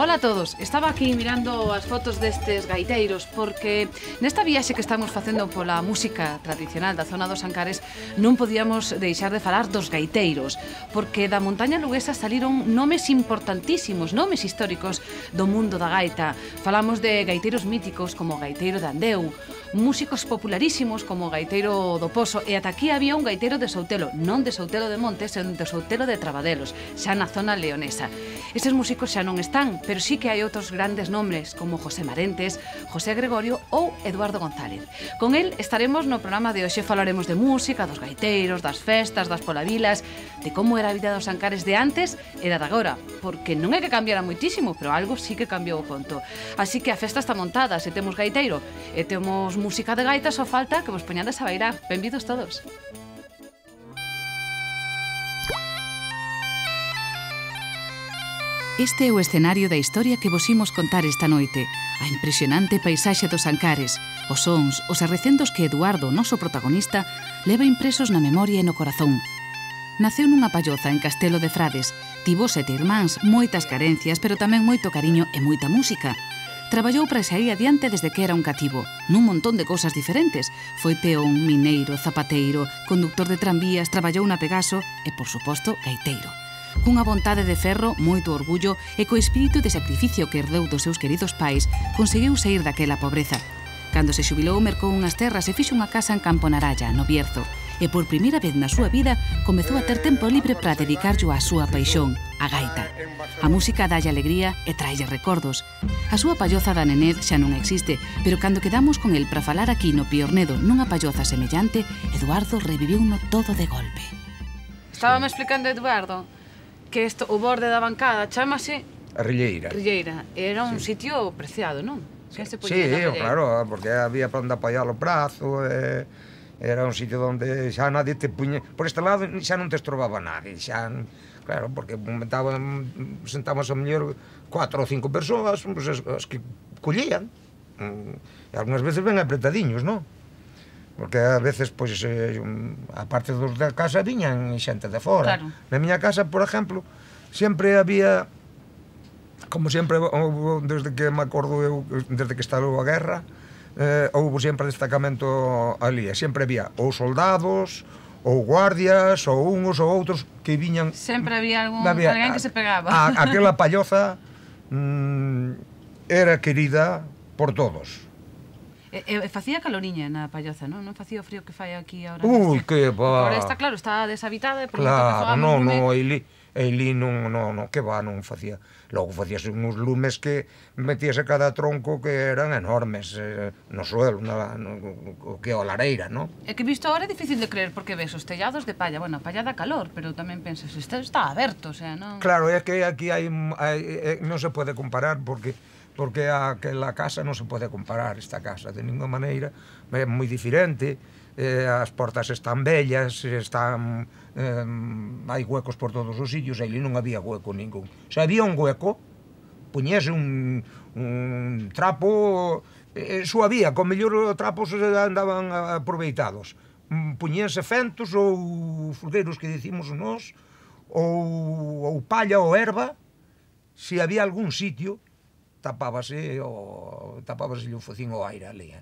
Ola a todos, estaba aquí mirando as fotos destes gaiteiros porque nesta viaxe que estamos facendo pola música tradicional da zona dos Ancares non podíamos deixar de falar dos gaiteiros, porque da montaña luguesa saliron nomes importantísimos, nomes históricos do mundo da gaita. Falamos de gaiteiros míticos como o gaiteiro de Andeu, músicos popularísimos como o gaiteiro do Pozo, e ata aquí había un gaiteiro de Soutelo, non de Soutelo de Montes, senón de Soutelo de Trabadelos, xa na zona leonesa. Estes músicos xa non están, pero sí que hai outros grandes nombres como José Marentes, José Gregorio ou Eduardo González. Con el estaremos no programa de hoxe, falaremos de música, dos gaiteiros, das festas, das polavilas, de como era a vida dos Ancares de antes e da de agora, porque non é que cambiara moitísimo, pero algo sí que cambiou o conto. Así que a festa está montada, se temos gaiteiro e temos música de gaita, só falta que vos poñades a bailar. Benvidos todos. Este é o escenario da historia que vos imos contar esta noite. A impresionante paisaxe dos Ancares, os sons, os arrecendos que Eduardo, o noso protagonista, leva impresos na memoria e no corazón. Naceu nunha palloza en Castelo de Frades, tivo 7 irmáns, moitas carencias, pero tamén moito cariño e moita música. Traballou para sair adiante desde que era un cativo, nun montón de cousas diferentes. Foi peón, mineiro, zapateiro, conductor de tranvías, traballou na Pegaso e, por suposto, gaiteiro. Cunha vontade de ferro, moito orgullo e co espírito de sacrificio que herdou dos seus queridos pais, conseguiu sair daquela pobreza. Cando se xubilou, mercou unhas terras e fixo unha casa en Campo Naralla, no Bierzo, e por primeira vez na súa vida comezou a ter tempo libre para dedicarllo á súa paixón, a gaita. A música dalle alegría e traille recordos. A súa palloza da Nenez xa non existe, pero cando quedamos con el para falar aquí no Piornedo nunha palloza semellante, Eduardo reviviuno todo de golpe. Estábame explicando, Eduardo, que isto, o borde da bancada chámase a Rilleira. Rilleira. Era un sitio preciado, non? Sí, claro, porque había para onde apoiar o brazo, era un sitio onde xa nadie te puñe... Por este lado xa non te estrobaba nadie, xa... Claro, porque sentamos a mellor 4 ou 5 persoas, pues, as que collían. E algunhas veces ben apretadiños, non? Porque a veces, pois, a parte dos da casa viñan xente de fora. Claro. Na miña casa, por exemplo, sempre había, como sempre, desde que me acordo eu, desde que estalou a guerra, houve sempre destacamento ali, e sempre había ou soldados, ou guardias, ou uns ou outros que viñan... Sempre había alguén que se pegaba. Aquela palloza era querida por todos. E facía caloriña na palloza, non? Non facía o frío que fai aquí agora? Ui, que va! Agora está, claro, está deshabitada. Claro, non, Eilí non, que va, non facía. Logo facíase uns lumes que metíase cada tronco que eran enormes no suelo, o que é a lareira, non? É que visto agora é difícil de creer, porque ves os tellados de palla, bueno, a palla dá calor, pero tamén pensas, está aberto, o sea, non... Claro, é que aquí non se pode comparar, porque aquela casa non se pode comparar, esta casa, de ninguna maneira, é moi diferente, as portas están bellas, hai huecos por todos os sitios, aí non había hueco ningún. Se había un hueco, puñese un trapo, só había, con mellor trapos andaban aproveitados, puñese fentos ou fulgueiros que dicimos nós, ou palla ou erva, se había algún sitio, tapábase o focín ao aire ali,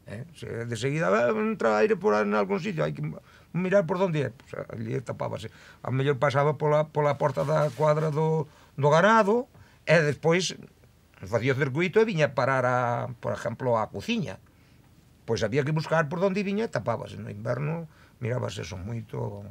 de seguida entra aire por algún sitio, hai que mirar por onde é, ali tapábase. A mellor pasaba pola porta da cuadra do ganado e despois facía o circuito e viña parar, por exemplo, a cociña. Pois había que buscar por onde viña e tapábase. No inverno mirábase eso moito.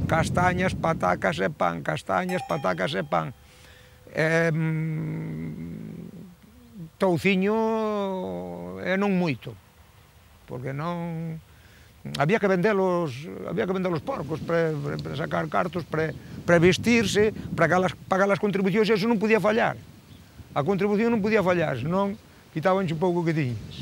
castañas, patacas e pan, castañas, patacas e pan. Touciño e non moito, porque non... Había que vender os porcos para sacar cartos, para vestirse, para pagar as contribucións, e eso non podía fallar. A contribución non podía fallar, senón quitabanche un pouco que tiñas.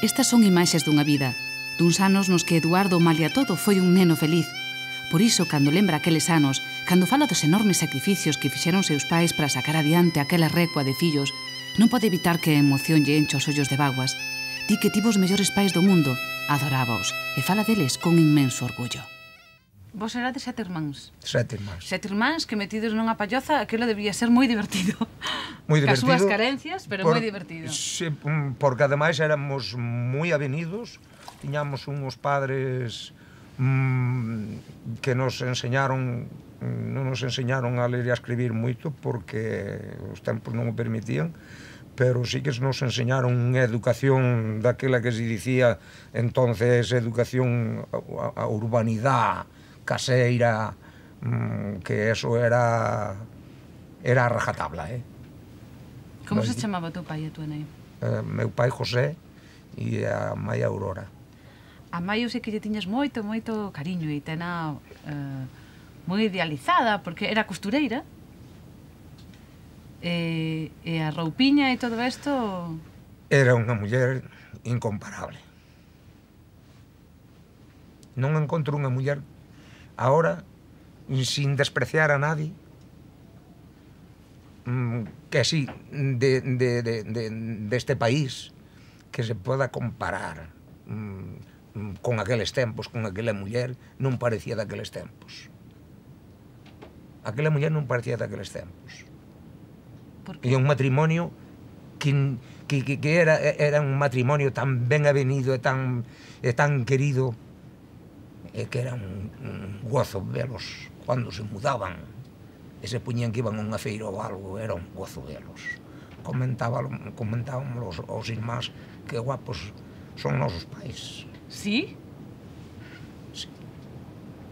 Estas son imaxes dunha vida, duns anos nos que Eduardo, malia todo, foi un neno feliz. Por iso, cando lembra aqueles anos, cando fala dos enormes sacrificios que fixeron seus pais para sacar adiante aquela recua de fillos, non pode evitar que a emoción lle enche os ollos de vaguas. Di que tivo os mellores pais do mundo, adorábaos, e fala deles con inmenso orgullo. Vos erades 7 irmáns. 7 irmáns. 7 irmáns que metidos nunha palloza, aquilo debía ser moi divertido. Moi divertido. Cas súas carencias, pero moi divertido. Sí, porque ademais éramos moi avenidos, tiñamos uns padres que nos enseñaron, non nos enseñaron a ler e a escribir moito porque os tempos non o permitían, pero sí que nos enseñaron unha educación daquela que se dicía entonces educación a urbanidade caseira, que eso era a rajatabla, Como se chamaba o teu pai e a tua nai? Meu pai José e a mãe Aurora. A mãe eu sei que lle tiñas moito, moito cariño e tena moi idealizada, porque era costureira. E a roupiña e todo isto... Era unha muller incomparable. Non encontro unha muller ahora, sin despreciar a nadie, que así, deste país, que se poda comparar con aqueles tempos, con aquela muller, non parecía daqueles tempos. Aquela muller non parecía daqueles tempos. E un matrimonio que era un matrimonio tan ben avenido e tan querido, e que era un gozo velos cando se mudaban e se puñían que iban a unha feira ou algo, era un gozo velos. Comentábamos aos irmáns que guapos son nosos pais. Sí? Sí.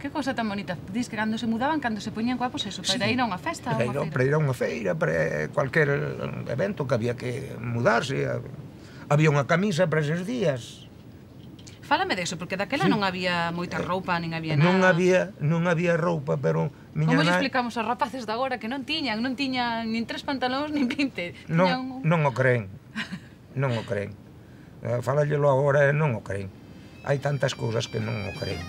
Que cosa tan bonita. Dis que cando se mudaban, cando se poñían guapos, eso, para ir a unha festa, a unha feira. Para ir a unha feira, para cualquier evento que había que mudarse. Había unha camisa para eses días. Fálame deso, porque daquela non había moita roupa, nin había nada. Non había roupa, pero... Como lle explicamos aos rapaces de agora que non tiñan nin 3 pantalóns, nin 20? Non o creen. Non o creen. Fálallelo agora e non o creen. Hai tantas cousas que non o creen.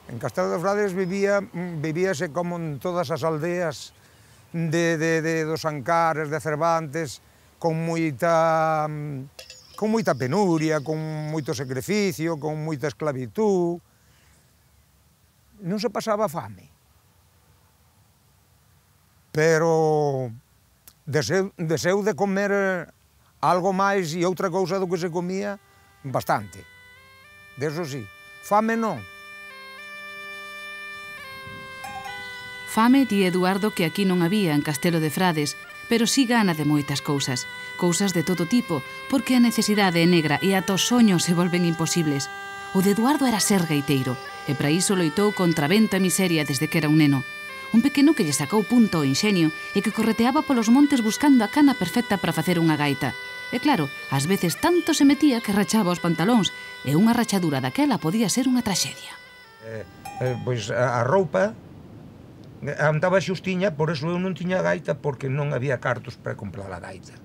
En Castelo de Frades vivíase como en todas as aldeas dos Ancares, de Cervantes, con moita penuria, con moito sacrificio, con moita esclavitud. Non se pasaba fame. Pero deseu de comer algo máis e outra cousa do que se comía, bastante. Deso sí. Fame non. Fame, di Eduardo, que aquí non había en Castelo de Frades, pero si gana de moitas cousas, cousas de todo tipo, porque a necesidade é negra e ata os soños se volven imposibles. O de Eduardo era ser gaiteiro, e para iso loitou contra vento e miseria desde que era un neno. Un pequeno que lle sacou punto ao inxenio e que correteaba polos montes buscando a cana perfecta para facer unha gaita. E claro, ás veces tanto se metía que rachaba os pantalóns, e unha rachadura daquela podía ser unha traxedia. Pois a roupa andaba xustiña, por eso eu non tiña gaita, porque non había cartos para comprar a gaita.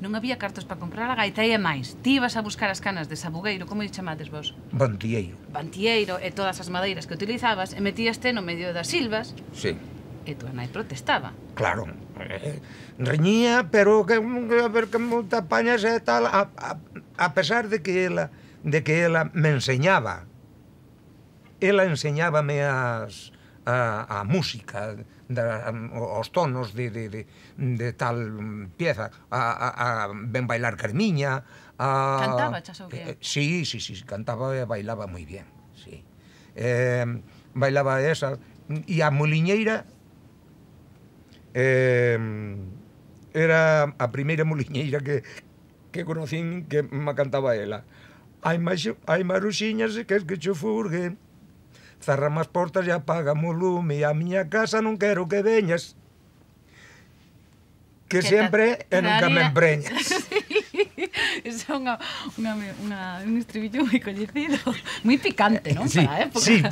Non había cartos para comprar a gaita e máis. Ti ibas a buscar as canas de sabugueiro, como lle chamades vos? Bantieiro. Bantieiro e todas as madeiras que utilizabas e metíaste no medio das silvas. Sí. E tua nai protestaba. Claro. Reñía, pero que a ver que monta pañas e tal, a pesar de que ela de que ela me enseñaba. Ela enseñábame a música, os tonos de tal pieza, a ben bailar Carmiña. Cantaba, chas ou que? Sí, cantaba e bailaba moi bien, sí. Bailaba esa, e a moliñeira era a primeira moliñeira que conocín que me cantaba ela. Hai maruxiñas e que cho furgue, cerrame as portas e apagame o lume, e a miña casa non quero que veñas, que sempre e nunca me empreñas. Iso é un estribillo moi coñecido, moi picante, non? Sí, Para a época. sí,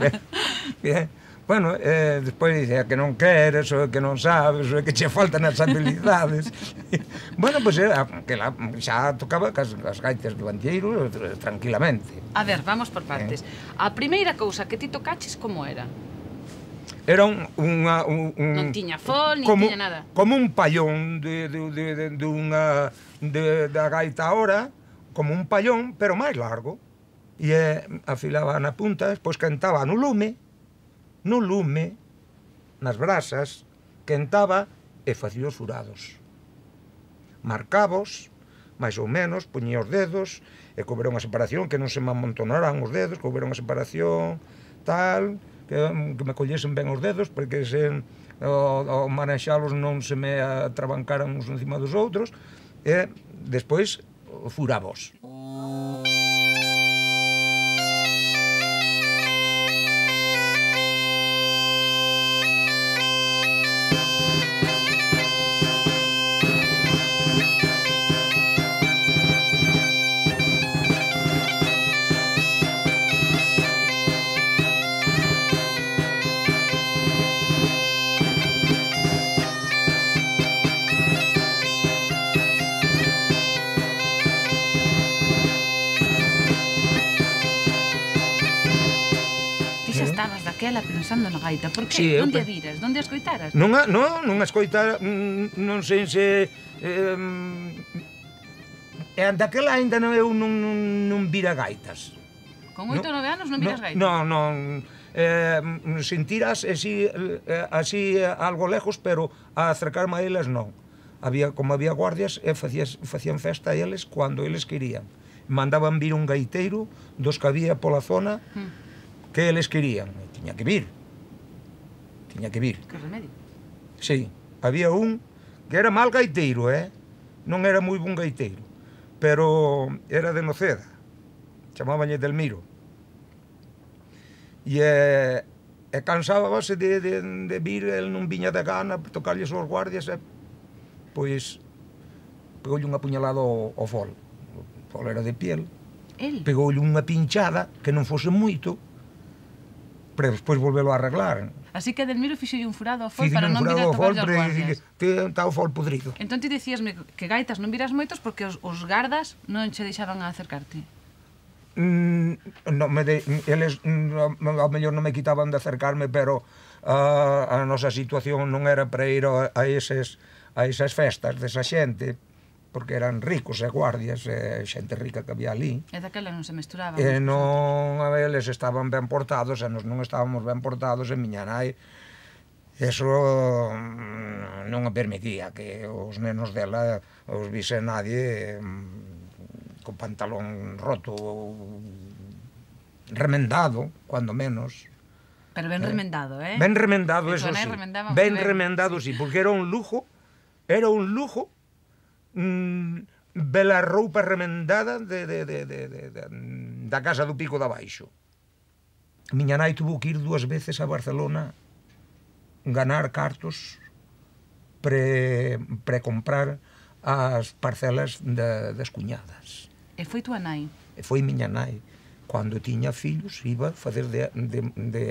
bueno, despois dice que non queres, ou que non sabes, ou que che faltan as habilidades. Bueno, pois xa tocaba cas gaitas do Antieiro tranquilamente. A ver, vamos por partes. A primeira cousa que ti tocaches, como era? Era non tiña fol, nin tiña nada. Como un pallón da gaita ahora, como un pallón, pero máis largo. E afilaba na punta, despois cantaba no lume, nas brasas, quentaba e facía os furados. Marcabos, máis ou menos, poñía os dedos, e que houbera unha separación, que non se me amontonaran os dedos, que houbera unha separación, tal, que me collesen ben os dedos, porque ao manexalos non se me atrabancaran uns encima dos outros, e despois furabos. Estabas daquela pensando na gaita, por que? Sí, Donde a viras? Donde a escoitaras? Non a escoitara, non sei se... daquela ainda eu non vira gaitas. Con 8 ou 9 anos non viras gaitas? Non, sentiras así algo lejos, pero a acercarme a elas non. Como había guardias, facían festa a eles cando eles querían. Mandaban vir un gaiteiro dos que había pola zona, que eles querían, tiña que vir. Que remedio? Sí, había un que era mal gaiteiro, non era moi bon gaiteiro, pero era de Noceda, chamábanlle Delmiro, e cansábase de vir, el non viña de gana, tocarlles aos guardias, pois pegoulle unha puñalada ao fol. O fol era de piel, pegoulle unha pinchada, que non fose moito, pero despois volvelo a arreglar. Así que Delmiro fixolle un furado ao fol para non vir a tocar aos guardias. Está o fol podrido. Entón ti dicíasme que gaitas non viras moitos porque os gardas non che deixaban a acercarte. Eles ao mellor non me quitaban de acercarme, pero a nosa situación non era para ir a esas festas desa xente, porque eran ricos e guardias, xente rica que había ali. E daquela non se mesturaba. E non, eles estaban ben portados, e nos non estábamos ben portados, e miña nai, eso non a permitía que os nenos dela os vise nadie con pantalón roto, remendado, cuando menos. Pero ben remendado, Ben remendado, eso sí. Ben remendado, sí, porque era un lujo, bela roupa remendada da casa do Pico de Abaixo. Miña nai tuvo que ir 2 veces a Barcelona ganar cartos pre-comprar as parcelas das cuñadas. E foi tua nai? E foi miña nai. Cando tiña fillos iba a facer de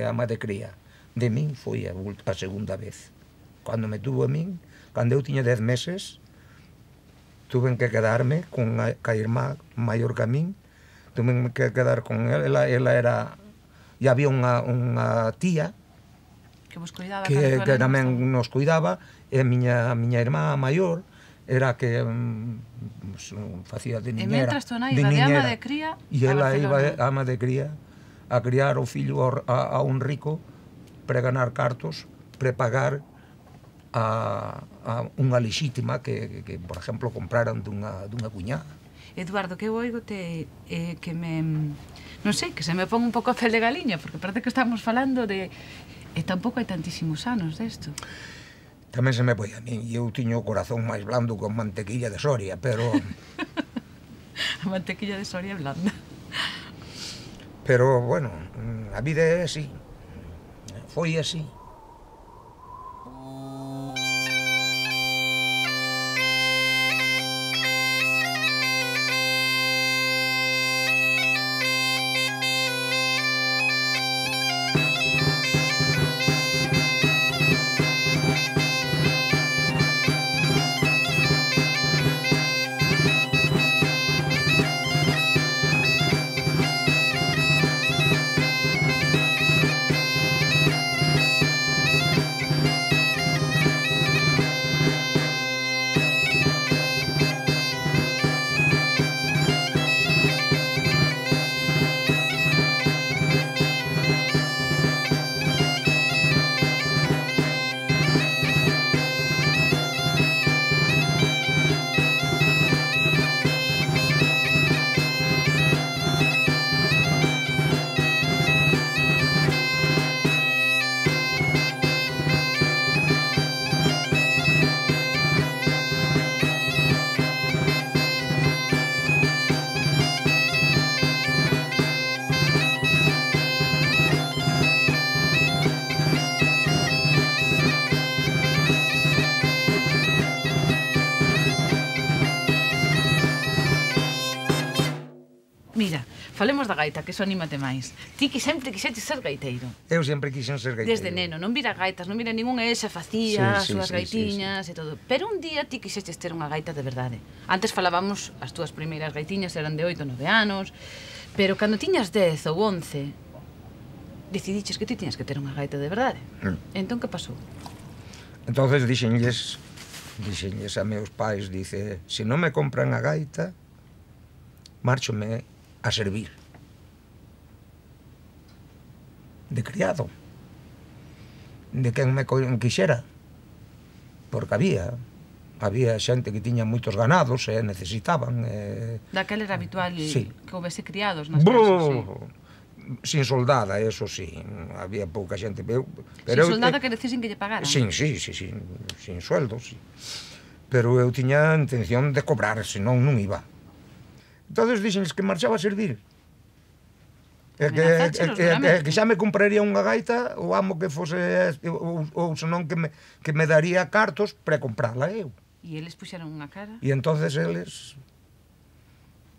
ama de cría. De min foi a segunda vez. Cando me tuvo a min, cando eu tiña 10 meses, tuve que quedarme con a irmá maior que a min, tuve que quedar con ela era... E había unha tía que vos cuidaba, que tamén nos cuidaba, e a miña irmá maior, era que facía de niñera. E mentras tu nai iba de ama de cría e a ela iba de Barcelona. ama de cría a criar o fillo a un rico para ganar cartos, prepagar a unha lexítima que, por exemplo, compraran dunha cuñada. Eduardo, que eu oigote que me... Non sei, que se me pon un pouco a fel de galiña, porque parece que estamos falando de... E tampouco hai tantísimos anos desto. Tamén se me foi a min, e eu tiño o corazón máis blando con mantequilla de Soria, pero... A mantequilla de Soria é blanda. Pero, bueno, a vida é así. Foi así. Mira, falemos da gaita, que iso anímate máis. Ti que sempre quixetes ser gaiteiro. Eu sempre quixen ser gaiteiro. Desde neno, non vira gaitas, non vira ningún e xa facía as Sí, súas sí, gaitiñas e todo. Pero un día ti quixetes ter unha gaita de verdade. Antes falábamos, as túas primeiras gaitiñas eran de 8 ou 9 anos, pero cando tiñas 10 ou 11, decidiches que ti tiñas que ter unha gaita de verdade. Entón, que pasou? Entonces dixenlles a meus pais, dice, se non me compran a gaita, márchome a servir de criado de quen me quixera, porque había xente que tiña moitos ganados e necesitaban Daquela era habitual sí. que houvese criados nas casas, sí. Sin soldada, eso sí, había pouca xente, pero sin soldada que decisen que lle pagaran. sin sueldo, sí. Pero eu tiña intención de cobrar, senón non iba. Entonces dixenles que marchaba a servir. Que xa me compraría unha gaita, o amo que fose, ou senón que me daría cartos para comprarla eu. E eles puxeron unha cara? E entonces eles,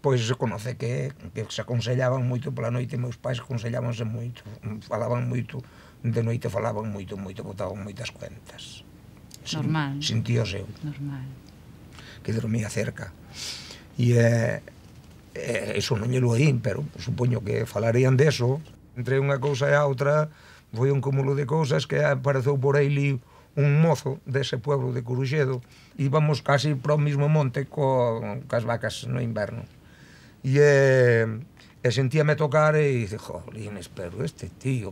pois se conoce que se aconsellaban moito pola noite, meus pais aconsellábanse moito, falaban moito, de noite falaban moito, botaban moitas cuentas. Normal. Sin tío seu. Normal. Que dormía cerca. E eso non lle lo oín, pero supoño que falarían deso. Entre unha cousa e a outra foi un cúmulo de cousas que apareceu por aí un mozo dese pueblo de Coruxedo. Íbamos casi pro mismo monte cas vacas no inverno. E sentíame tocar e dice, jolines, pero este tío,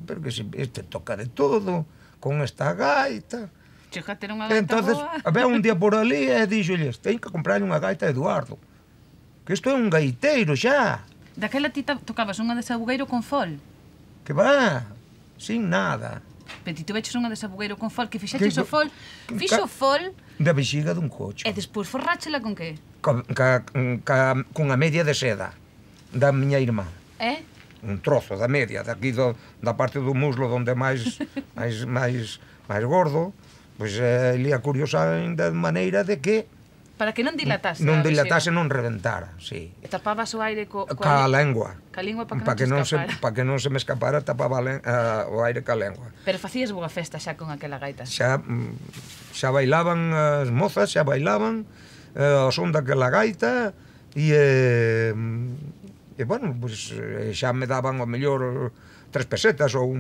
pero que este toca de todo, con esta gaita. Chega a ter unha gaita entonces, boa. Había un día por ali e dixolles, ten que comprarle unha gaita a Eduardo, que isto é un gaiteiro xa. Daquela ti tocabas unha de sabugueiro con fol. Que va, sin nada. Pero ti tuveches unha de sabugueiro con fol, que fixeches o fol, fixo o fol... Da vexiga dun coche. E despois forráchela con que? Cunha media de seda, da miña irmá. Un trozo da media, daqui da parte do muslo onde é máis gordo, pois lia curiosa de maneira de que para que non dilatase. Non dilatase, non reventara, sí. E tapabas o aire ca lengua. Ca lingua para que non se escapara. Para que non se me escapara, tapaba o aire ca lengua. Pero facías boa festa xa con aquela gaita. Xa bailaban as mozas, xa bailaban ao son daquela gaita e bueno, pois xa me daban o mellor 3 pesetas ou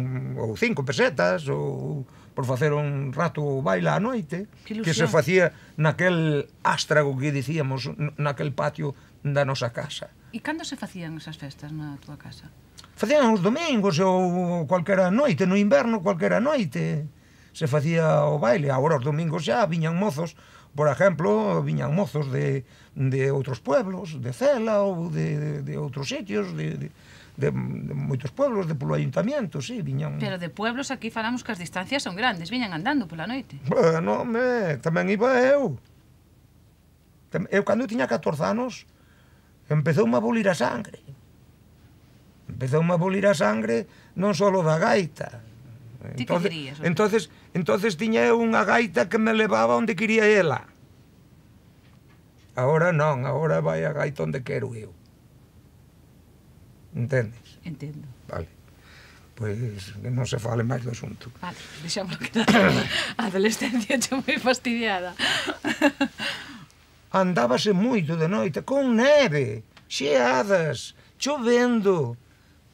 5 pesetas ou por facer un rato baile á noite que se facía naquel ástrago que dicíamos naquel patio da nosa casa. E cando se facían esas festas na túa casa? Facían os domingos ou cualquera noite, no inverno cualquera noite se facía o baile. Agora os domingos xa viñan mozos, por exemplo, viñan mozos de outros pueblos, de Cela ou de outros sitios, de moitos pueblos, de polo ayuntamiento, sí, viñan... Pero de pueblos aquí falamos que as distancias son grandes, viñan andando pola noite. Bueno, tamén iba eu. Eu, cando tiña 14 anos, empezoume a bolir a sangre. Empezoume a bolir a sangre non só da gaita. Ti que querías? Entonces tiña eu unha gaita que me levaba onde quería ela. Agora non, agora vai a gaita onde quero eu. Entendes? Entendo. Vale. Pois que non se fale máis do asunto. Vale, deixámoslo quedar. A adolescencia xa moi fastidiada. Andábase moito de noite, con neve, xeadas, chovendo.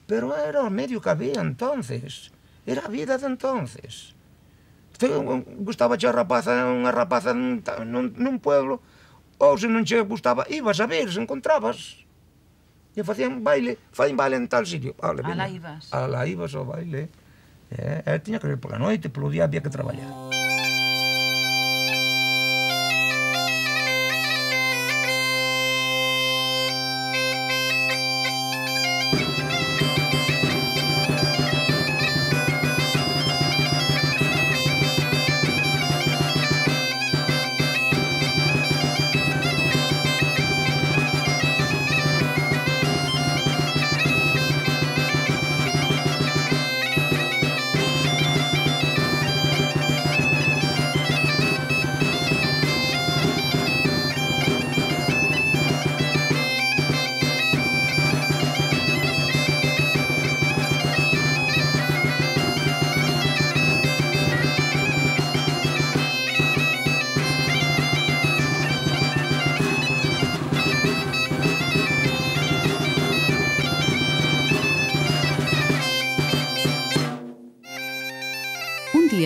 Pero era o medio que había entonces. Era a vida de entonces. Gustaba che unha rapaza nun pueblo, ou se non che gustaba, ibas a ver, se encontrabas. E facían baile en tal sitio. Alá ibas. Alá ibas ao baile. Tiña que ver pola noite, polo día había que traballar.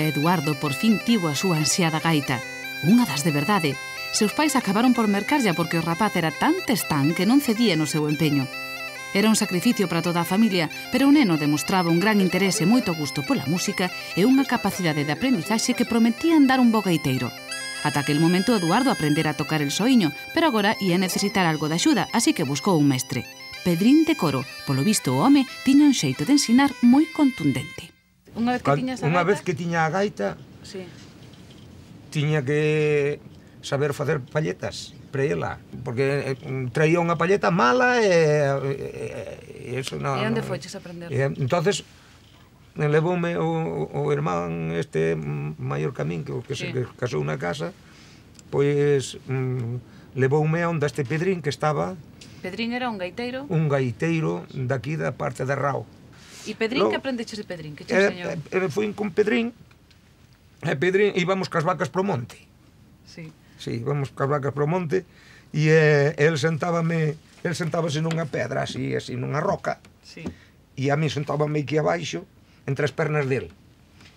Eduardo por fin tivo a súa ansiada gaita, unha das de verdade. Seus pais acabaron por mercarlla porque o rapaz era tan testán que non cedía no seu empeño. Era un sacrificio para toda a familia, pero o neno demostraba un gran interese e moito gusto pola música e unha capacidade de aprendizaxe que prometían dar un bo gaiteiro. Ata aquel momento Eduardo aprendera a tocar el soiño, pero agora ia necesitar algo de axuda, así que buscou un mestre. Pedrín de Coro, polo visto o home, tiña un xeito de ensinar moi contundente. Unha vez que tiña a gaita, sí, tiña que saber facer palletas para ela, porque traía unha palleta mala e eso non... E onde foches a aprender? Entonces, levoume o irmán este maior camín que se casou na casa, pois levoume a onde este Pedrín que estaba... Pedrín era un gaiteiro? Un gaiteiro daqui da parte de Rao. E Pedrín, que aprendeches de Pedrín? Que che enseñou? Fui con Pedrín, e Pedrín íbamos cas vacas pro monte. Sí. Sí, íbamos cas vacas pro monte, e el sentábase nunha pedra, así nunha roca, sí, e a mí sentábame aquí abaixo, entre as pernas del.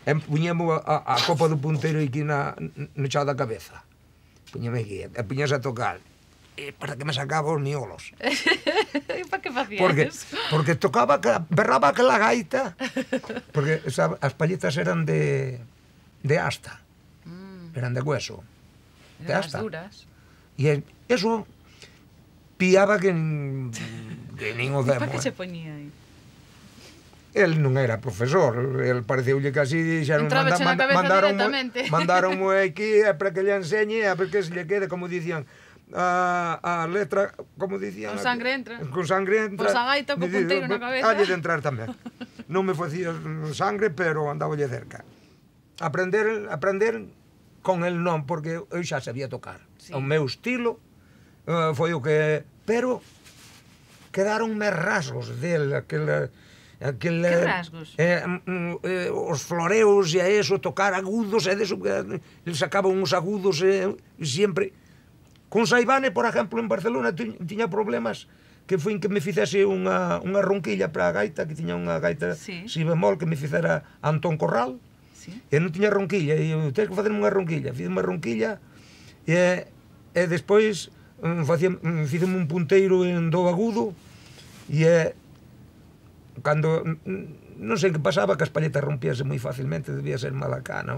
E puñemos a copa do punteiro aquí no chao da cabeza. Puñeme aquí, e puñase a tocar. Para que me sacaba os miolos. E para que facías? Porque tocaba, berraba aquela gaita, porque as palletas eran de asta, eran de hueso, de asta. Duras. E eso piaba que nin o demo. E para que se poñía aí? El non era profesor, el pareceulle que así dixeron, mandaronmo aquí para que lle enseñe, a ver que se lle quede, como dicían, a letra, como dicían... Con sangre entra. Con sangre entra. Pois a gaita co punteiro na cabeza. Halle de entrar tamén. Non me facía sangre, pero andaballe cerca. Aprender con el non, porque eu xa sabía tocar. Sí. O meu estilo foi o que... Pero quedaronme rasgos del, que rasgos? Os floreos e a eso, tocar agudos, e deso, el sacaba uns agudos sempre... Con Saibane, por exemplo, en Barcelona tiña problemas que foi que me fixese unha ronquilla para a gaita, que tiña unha gaita si bemol que me fixera Antón Corral, e non tiña ronquilla, e eu, tens que facerme unha ronquilla, fiz unha ronquilla, e despois fixeme un punteiro en do agudo, e cando non sei que pasaba, que as palletas rompíase moi facilmente, debía ser mala cana,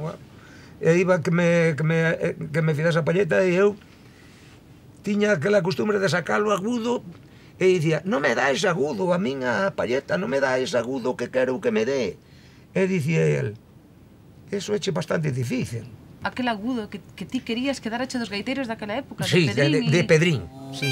e iba que me fixese a palleta, e eu tiña aquela costumbre de sacalo agudo, e dicía, non me dá ese agudo, a min a palleta, non me dá ese agudo que quero que me dé. E dicía el, eso é bastante difícil. Aquel agudo que ti querías que darache dos gaiteiros daquela época, sí, de Pedrín. De Pedrín, sí.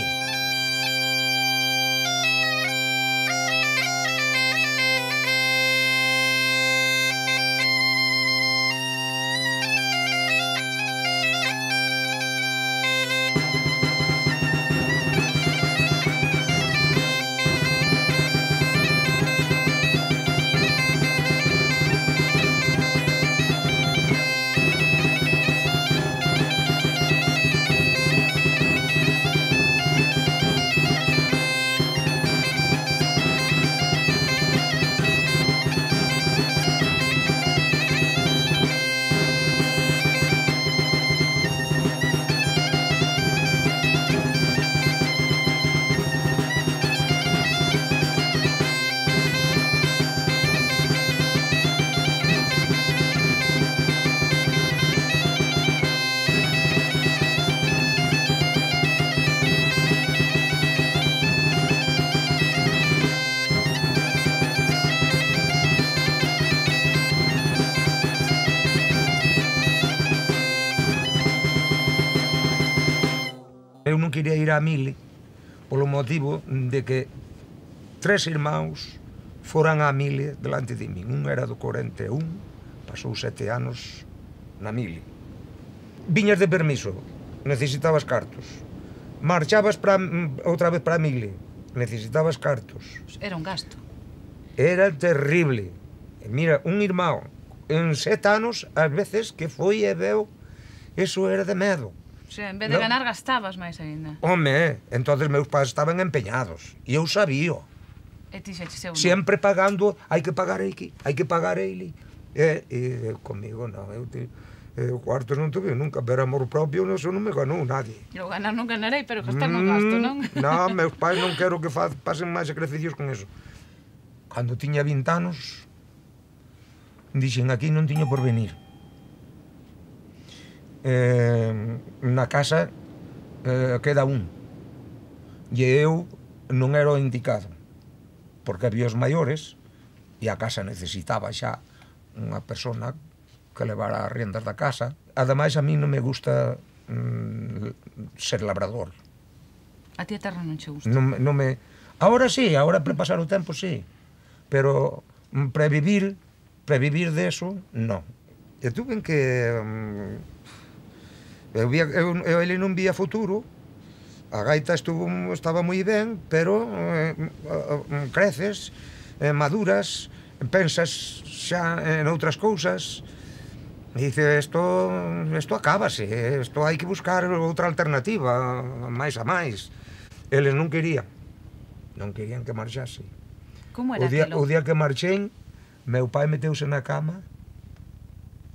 Eu non quería ir á mile polo motivo de que 3 irmáns foran á mile delante de min. Un era do 41, pasou 7 anos na mile. Viñas de permiso, necesitabas cartos. Marchabas outra vez para a mile, necesitabas cartos. Era un gasto. Era terrible. Mira, un irmão en 7 anos, ás veces que foi e veu, eso era de medo. O sea, en vez de ganar, gastabas máis ainda. Home, entonces meus pais estaban empeñados. E eu sabía. E ti xa che sempre pagando, hai que pagar aquí, hai que pagar ele. E comigo non, eu cuartos non tuve nunca, pero amor propio eso non me ganou nadie. Eu ganar non ganarei, pero gastar non gasto, non? Non, meus pais non quero que pasen máis sacrificios con eso. Cando tiña 20 anos, dixen aquí non tiño por venir. Na casa queda un, e eu non era o indicado, porque había os maiores e a casa necesitaba xa unha persona que levara as riendas da casa. Ademais, a mí non me gusta ser labrador. A ti a terra non che gusta? Ahora sí, ahora para pasar o tempo sí, pero previvir de eso, non. E tuve que... ele non vía futuro, a gaita estaba moi ben, pero creces, maduras, pensas xa en outras cousas, e dice, isto acábase, isto hai que buscar outra alternativa, máis a máis. Eles non querían que marchase. Como era aquilo? O día que marchei, meu pai meteuse na cama,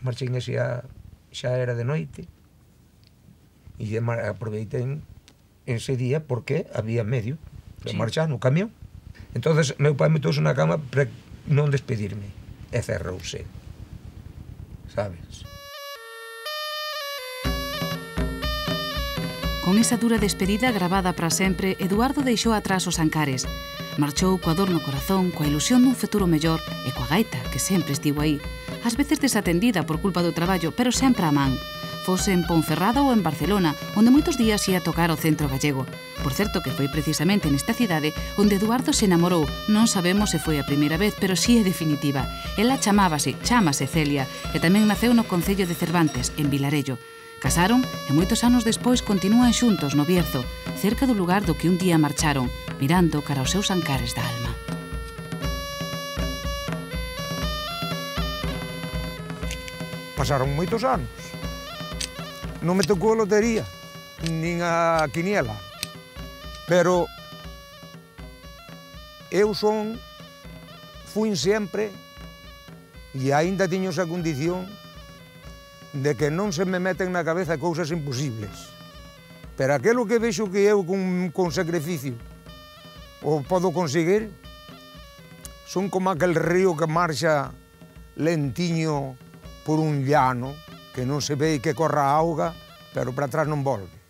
marchei xa era de noite, e aproveitei ese día porque había medio de marchar no camión. Entonces meu pai meteuse na cama para non despedirme e cerrouse, sabes? Con esa dura despedida gravada para sempre, Eduardo deixou atrás os Ancares. Marchou coa dor no corazón, coa ilusión dun futuro mellor e coa gaita, que sempre estivo aí. Ás veces desatendida por culpa do traballo, pero sempre a man. Fose en Ponferrada ou en Barcelona, onde moitos días ia tocar ao centro gallego. Por certo que foi precisamente nesta cidade onde Eduardo se enamorou. Non sabemos se foi a primeira vez, pero si é definitiva. Ela chamase Celia, e tamén naceu no concello de Cervantes, en Vilarello. Casaron e moitos anos despois continúan xuntos no Bierzo, cerca do lugar do que un día marcharon, mirando cara aos seus Ancares da alma. Pasaron moitos anos. Non me tocou a lotería, nin a quiniela, pero eu fuin sempre, e aínda tiño esa condición, de que non se me meten na cabeza cousas imposibles. Pero aquilo que vexo que eu con sacrificio o podo conseguir, son como aquel río que marcha lentiño por un llano, que non se ve que corra a auga, pero para atrás non volve.